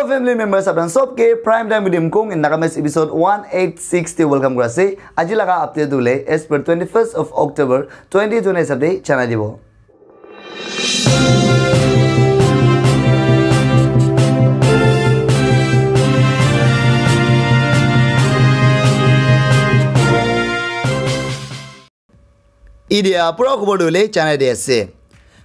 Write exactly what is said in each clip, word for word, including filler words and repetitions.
Family members, apnan sob ke Prime Time with Imkung in Nagamese episode one eight six te welcome kura ase. Aji laga update tu hoile as per twenty-first of October twenty twenty hisab te janai dibo. Idia pura khobor tu hoile janai di ase.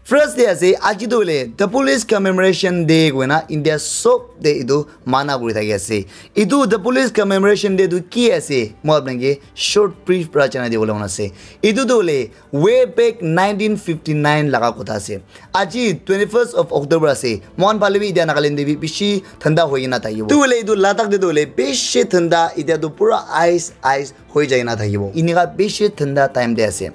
First te ase, aji tu hoile the Police Commemoration Day koina India sob te etu mana kuri thaki ase. Etu the Police Commemoration Day tu ki ase, moi apnake short brief pra janai dibole mon ase. Etu tu hoile way back nineteen fifty-nine laga kotha ase. Aji twenty-first of October ase. Mohan phale bi idia Nagaland te bi bishi thanda hoi kena thakibo. Tu hoile etu Ladakh te tu hoile bishi thanda, idia tu pura ice, ice hoi jai na thakibo. Inika bishi thanda time te ase.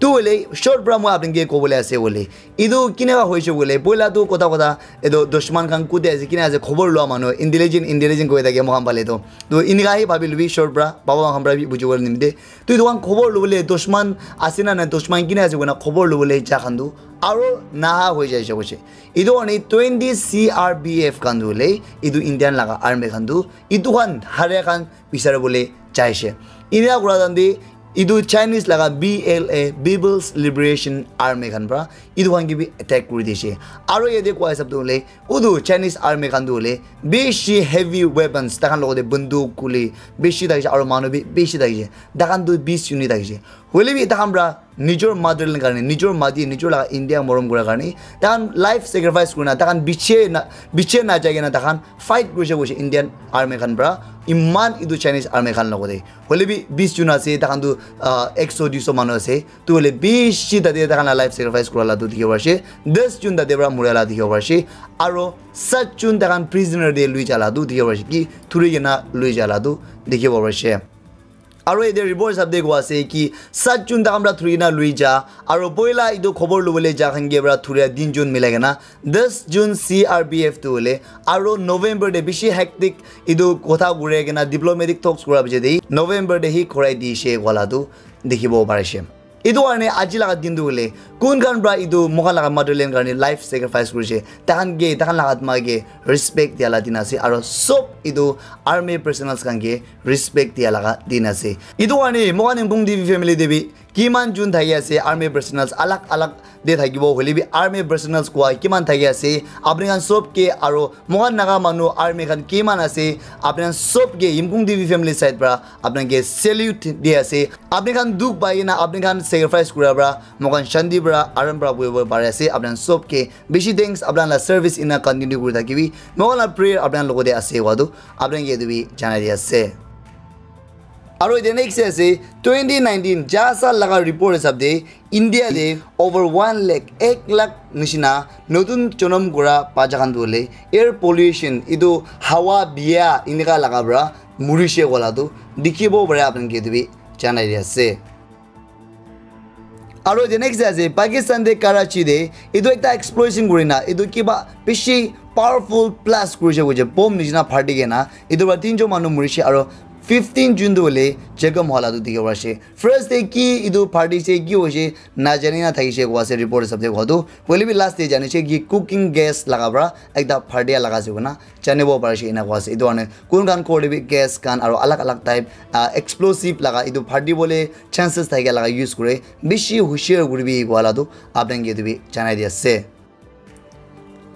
Tu hoile short pra moi apnake kobole ase hoile, etu kineka hoise hoile, poila tu kotha kotha etu dushman khan kute ase, kina ase, khobor lua manu, intelligent, intelligent koi thake moikhan phale tu. Tu inika hi bhabi lubi short pra, baba khan pra bi buji bole nimite. Tu etu khan khobor lubole dushman ase na nai, dushman kina ase koina khobor lubole ja khan tu aro naha hoi jai se koise. Etu karne twenty C R P F khan tu hoile, etu Indian laga army khan tu, etu khan haria khan bisari bole jaise. Inia kura time te etu Chinese laga B L A, People's Liberation Army khan pra etu khan ke bi attack kuri dise. Aro yate koi hisab tu hoile, utu Chinese army khan tu hoile bishi heavy weapons, takhan logote banduk, guli bishi thakise, aro manu bi bishi thakise. Takhan tu bis unit thakise. Hoile bi takhan pra nijor motherland karne, nijor mati, nijor laga India morom kura karne, takhan life sacrifice kurina, takhan biche na, biche na jai kena takhan fight kurise koise Indian army khan pra, iman etu Chinese army khan logote. Hoile bi bis jun ase, takhan tu, ah, ekso duiso manu ase. Tu hoile bishi tate takhan la life sacrifice kura la tu dikhibo parise. Das jun tate pra muria la dikhibo parise. Aro sat jun takhan prisoner te lui ja la tu dikhibo parise. Ki thuri kena lui ja la tu dikhibo parise. Aro yate report hisab te koa ase ki sat jun takhan pra thuri kena lui ja. Aro poila etu khobor lubole ja khan ke pra thuria tin jun milai kena das jun C R P F tu hoile. Aro November te bishi hectic etu kotha kure kena diplomatic talks kura piche te November te hi khurai dise koa la tu dikhibo parise. Etu karne aji laga din tu hoile kun khan pra etu moikhan laga motherland karne life sacrifice kurise, takhan ke, takhan laga atma ke respect dia la din ase, aro sob etu army personnels khan ke respect dia laga din ase. Etu karne moikhan Imkung T V family te bi kiman jun thaki ase, army personnels alag alag te thakibo hoile bi army personnels koa kiman thaki ase, apni khan sob ke aro moikhan Naga manu army khan kiman ase, apni khan sob ke Imkung T V family side pra apni khan ke salute di ase. Apni khan dukh pai kena apni khan sacrifice kura pra moikhan shanti pra aram pra buhibo pari ase. Apni khan sob ke bishi thanks, apni khan la service ena continue kuri thakibi. Moikhan la prayer apni khan logote ase koa tu apni khan ke etu bi janai di ase. Aro etu next ase twenty nineteen ja saal laga report hisab te India te over one lakh, ek lakh nishina notun jonom kura bacha khan tu hoile air pollution, etu hawa biya enika laga pra murise koa la tu dikhibo pare, apni khan ke etu bi janai di ase. Aro the next ase Pakistan te Karachi te etu ekta explosion kurina etu kiba bishi powerful blast kurise koise, bomb nishina phati kena etu pra tinjon manu murise aro fifteen jun tu hoile jekham hua la tu dikhibo parise. First te ki etu phati se ki hoise najani na thakise koa ase report hisab te koa tu, hoile bi last te janise ki cooking gas laga pra ekta phati laga ase koina janibo parise ena koa ase. Etu karne kun khan ghor te bi gas khan aro alag alag type, ah, explosive laga etu phati bole chances thaki laga use kure, bishi hushiar kuribi koa la tu apni khan ke etu bi janai di ase.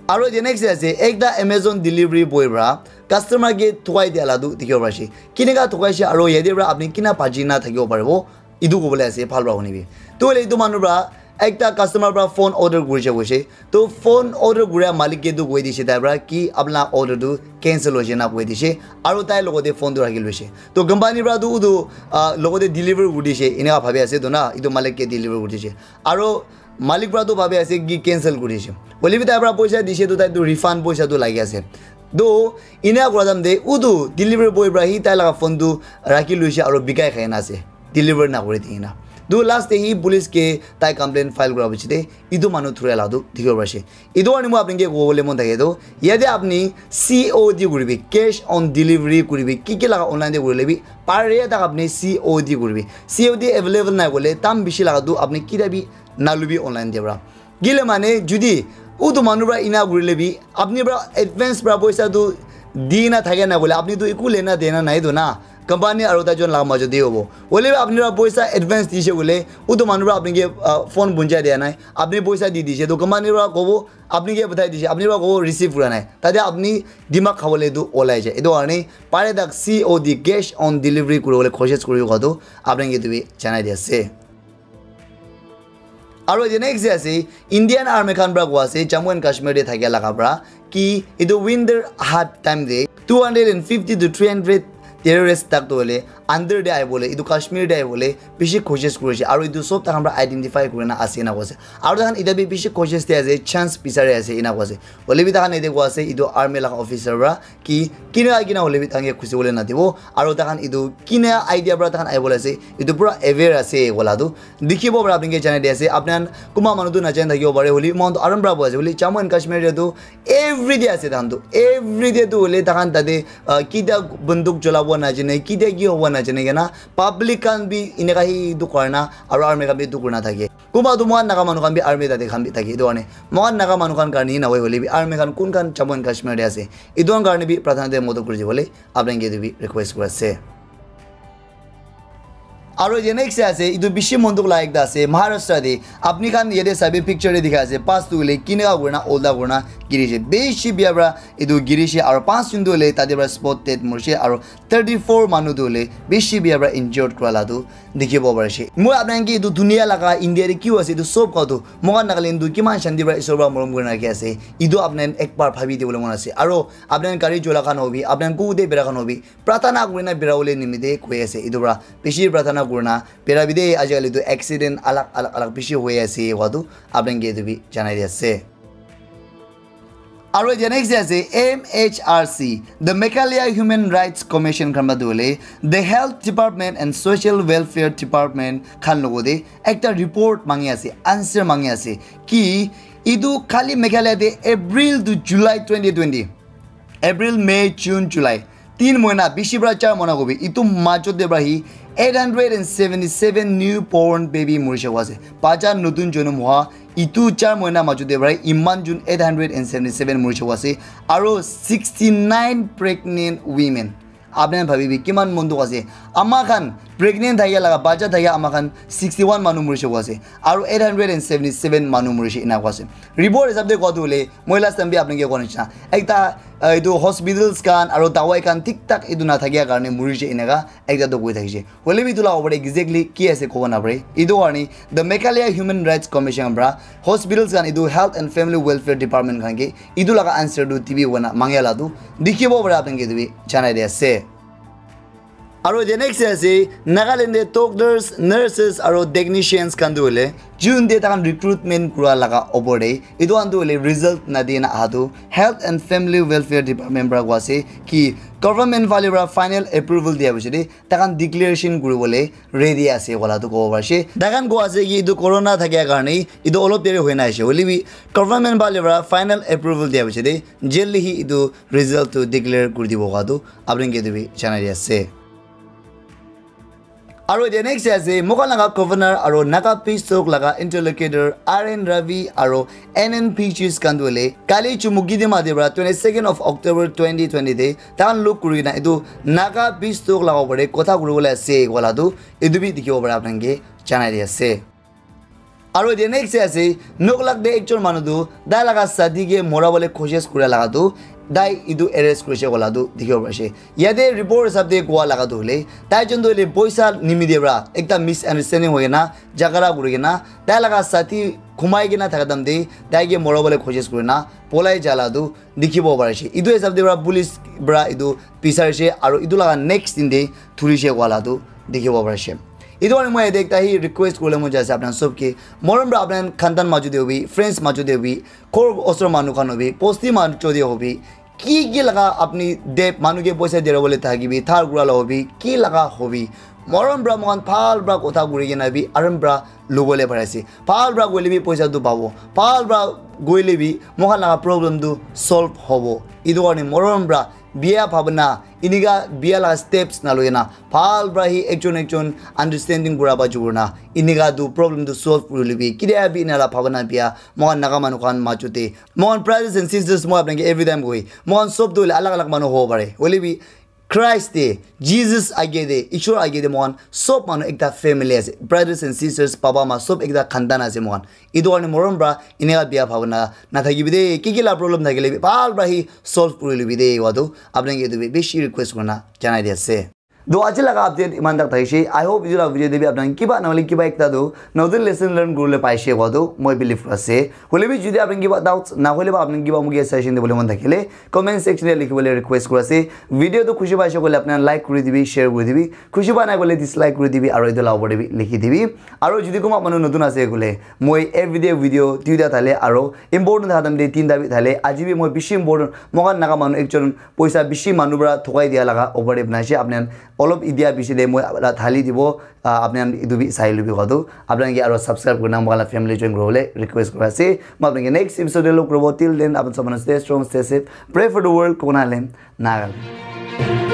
Aro the next ase ekta Amazon delivery boy pra customer ke thukai dia la tu dikhibo parise. Kineka thukaise aro yate pra apni kina bachi na thakibo paribo, etu kobole ase bhal pra hunibi. Tu hoile etu manu pra ekta customer pra phone order kurise koise. To phone order kuria malik ke tu koi dise tai pra ki apna order tu cancel hoise na koi dise. Aro tai logote phone tu rakhi loise. To company pra tu utu, ah, logote deliver kuri dise. Eneka bhabi ase to na, etu malik ke deliver kuri dise. Aro malik pra tu bhabi ase ki cancel kuri dise. Hoile bi tai pra poisa dise to tai tu refund poisa tu lagi ase. To ena kura time te utu delivery boy pra hi tai laga phone tu rakhi loise aro bikai khai na ase. Deliver na kuri di kena. Tu last te hi police ke tai complaint file kura piche te etu manu thuria la tu dikhibo parise. Etu karne moi apni ke kobole mon thake tu, yate apni C O D kuribi, cash on delivery kuribi, ki ki laga online te kurile bi pare tak apni C O D kuribi. C O D available nai koile dam bishi laga tu apni kita bi nalubi online te pra. Kile mane judi utu manu pra ena kurile bi apni pra advance pra poisa tu di na thake na koile apni tu eku lena dena nai tu na, company aru taijon laga majot te hobo. Hoile bi apni para poisa advance dise koile, utu manu para apni ke, ah, phone bunjai dia nai, apni poisa di dise, to company para kobo, apni ke pathai dise, apni para kobo receive kura nai. Tate apni dimag khabole tu olai jai. Etu karne pare tak C O D, cash on delivery, kuribole koshish kuri kowa tu apni ke etu bi janai di ase. Aru etu next te ase, Indian Army khan para kowa ase, Jammu and Kashmir te thakia laga para, ki etu winter hat time te two hundred and fifty to three hundred terrorist tak to hoile under te ahibole, etu Kashmir te ahibole bishi koshish kuri ase. Aru etu sob takhan para identify kuri na ase na koise. Aru takhan eta bi bishi koshish te ase, chance bisari ase ena koise. Hoile bi takhan ete kowa ase, etu army laga officer para ki kina kina hoile bi takhan ke khusi bole na dibo. Aru takhan etu kina idea para takhan ahibole ase, etu pura aware ase kowa la tu dikhibo para apni ke janai di ase. Apni khan kunba manu tu najani thakibo pare, hoile bi moikhan tu aram para bohi ase. Hoile Jammu and Kashmir te tu every day ase, tahan tu every day tu hoile tahan tate, ah, kitia banduk cholabo najane, kitia ki hobo najane kena public khan bi eneka hi etu kura na, aru army khan bi etu kuri na thake. Kunba tu moikhan Naga manu khan bi army tate khan bi thake. Etu karne moikhan Naga manu khan karne hi nahoi, hoile bi army khan kun khan Jammu and Kashmir te ase, etu khan karne bi prathana te modot kuri dibole apni ke etu bi request kuri ase. Aru etu next te ase, etu bishi mon dukh laga ekta ase, Maharashtra te. Apni khan yate sabi picture te dikha ase, bus tu hoile kineka kurina olta kurina girise. Bishi bia para etu girise, aru panch jon tu hoile tate para spot dead morise, aru thirty four manu tu hoile bishi bia para injured kura la tu dikhibo parise. Moi apni khan ke etu dunia laga India te ki hoi ase, etu sob kau tu moikhan Nagaland tu kiman shanti para Isor para morom kurina rakhi ase, etu apni khan ek bar bhabi dibole mon ase. Aru apni khan gari chola khan hobi, apni khan kuku te bera khan hobi, prathana kurina bera bole nimite koi ase. Etu para bishi prathana kurina bera bi de, ajikali tu accident alag alag alag bishi hoi ase, kowa tu apni khan ke etu bi janai di ase. Aru etu next te ase M H R C, the Meghalaya Human Rights Commission khan para tu hoile, the Health Department and Social Welfare Department khan logote ekta report mangi ase, answer mangi ase ki etu khali Meghalaya te April to July twenty twenty, April, May, June, July, tin moina, bishi para char moina kobi, etu majot te para hi eight hundred and seventy seven new born baby morise kowa ase. Bacha notun jonom hoa, etu char moina majot te para iman jon eight hundred and seventy seven morise kowa ase, aru sixty nine pregnant women. Apni khan bhabi bi kiman mon dukh ase, ama khan pregnant thakia laga, bacha thakia ama khan sixty one manu morise kowa ase, aru eight hundred and seventy seven manu morise ena kowa ase. Report hisab te kowa tu hoile, moi last time bi apni ke kowa nishina, ekta, ah, etu hospitals khan aru dawai khan thik thak etu na thakia karne morise eneka ekta tu koi thakise. Hoile bi etu laga opor te exactly ki ase kobo na pare. Etu karne the Meghalaya Human Rights Commission para hospitals khan, etu Health and Family Welfare Department khan ke etu laga answer tu dibi koina mangia la tu dikhibo para apni khan ke etu bi janai di ase. Aru the next ase, Nagaland te doctors, nurses aru technicians khan tu hoile June te takhan recruitment kura laga opor te, etu khan tu hoile result na di na aha tu Health and Family Welfare Department para kowa ase ki government phale para final approval dia piche te takhan declaration kuribole ready ase kowa la tu kobo parise. Takhan kowa ase ki etu corona thakia karne etu olop deri hoi na ase, hoile bi government phale para final approval dia piche te jaldi hi etu result tu declare kuri dibo kowa tu apni khan ke etu bi janai di ase. Aru the next ase, moikhan laga governor aru Naga Peace Talk laga interlocutor R N Ravi aru N N P Gs khan tu hoile kali Chumukedima te para twenty second of October twenty twenty te takhan log kuri kena etu Naga Peace Talk laga opor te kotha kuribole ase kowa la tu etu bi dikhibo para apni khan ke janai di ase. Aru the next te ase, Noklak te ekjon manu tu tai laga sathi ke morabole koshish kura laga tu tai etu arrest kurise kowa la tu dikhibo parise. Yate report hisab te kowa laga tu hoile, tai jon tu hoile poisa nimite para ekta misunderstanding hoi kena jhagara kuri kena tai laga sathi khumai kena thaka time te tai ke morabole koshish kurina polai ja la tu dikhibo parise. Etu hisab te para police para etu bicharise aru etu laga next din te thurise kowa la tu dikhibo parise. Etu karne moi yate ekta hi request kuribole mon jai ase apni khan sob ke, morom para apni khan khandan majot te hobi, friends majot te hobi, ghor osor manu khan hobi, bosti majot te hobi, ki ki laga apni de manu ke poisa dera bole thakibi, thar kura la hobi, ki laga hobi, morom para moikhan bhal para kotha kuri kena bi aram para lobole pari ase. Bhal para koile bi poisa tu pabo, bhal para koile bi moikhan laga problem tu solve hobo. Etu karne morom para Bia bhabana, inika bia la steps na loina, bhal pra hi ekjon ekjon understanding kura pa jurna, inika tu problem tu solve kuri libi. Kidia bi ina la bhabana bia, mohan Naga manu khan majute. Mohan brothers and sisters, mohan apnake every time koi. Mohan sob tu alag alag manu ho pare. Hoile bi, Christ te, Jesus age te, Ishwar age te, mohan sob manu ekta family ase. Brothers and sisters, papa ma sob ekta khandan ase mohan. Etu karne morom pra eneka bia bhabana nathakibi de, ki ki la problem thakile bi bhal pra hi solve kuri libi de, wadu apnake etu bi bishi request kurna janai di ase. Do aji laga update iman tak thakishe. I hope etu la video de bi apnake kiba nahole kiba ekta do notun lesson learn kuribole paishe wadu moi believe kuri ase. Hoile bi jodi apnake kiba doubts nahole ba apnake kiba muke suggestion dibole mon thakile comment section de likhibole request kuri ase. Video tu khushi paishe koile apnake like kuri dibi, share kuri dibi. Khushi pa nai koile dislike kuri dibi, aro etu la opor de bi likhi dibi. Aro jodi kunba manu notun ase koile, moi everyday video duita thale aro important thaka time de tinta bi thale. Aji bi moi bishi important, moikhan Naga manu ekjon poisa bishi manu pra thokai dia laga opor de banai ase. Apni khan olop etia bishi de moi la thali dibo, ah, apni khan etu bi sai lubi koa tu. Apni khan ke aro subscribe kurina moikhan la family join kuribole request kuri ase. Moi apni khan ke next episode de log kuribo. Till then, apni sob manu stay strong, stay safe. Pray for the world, Konarland, Nagaland.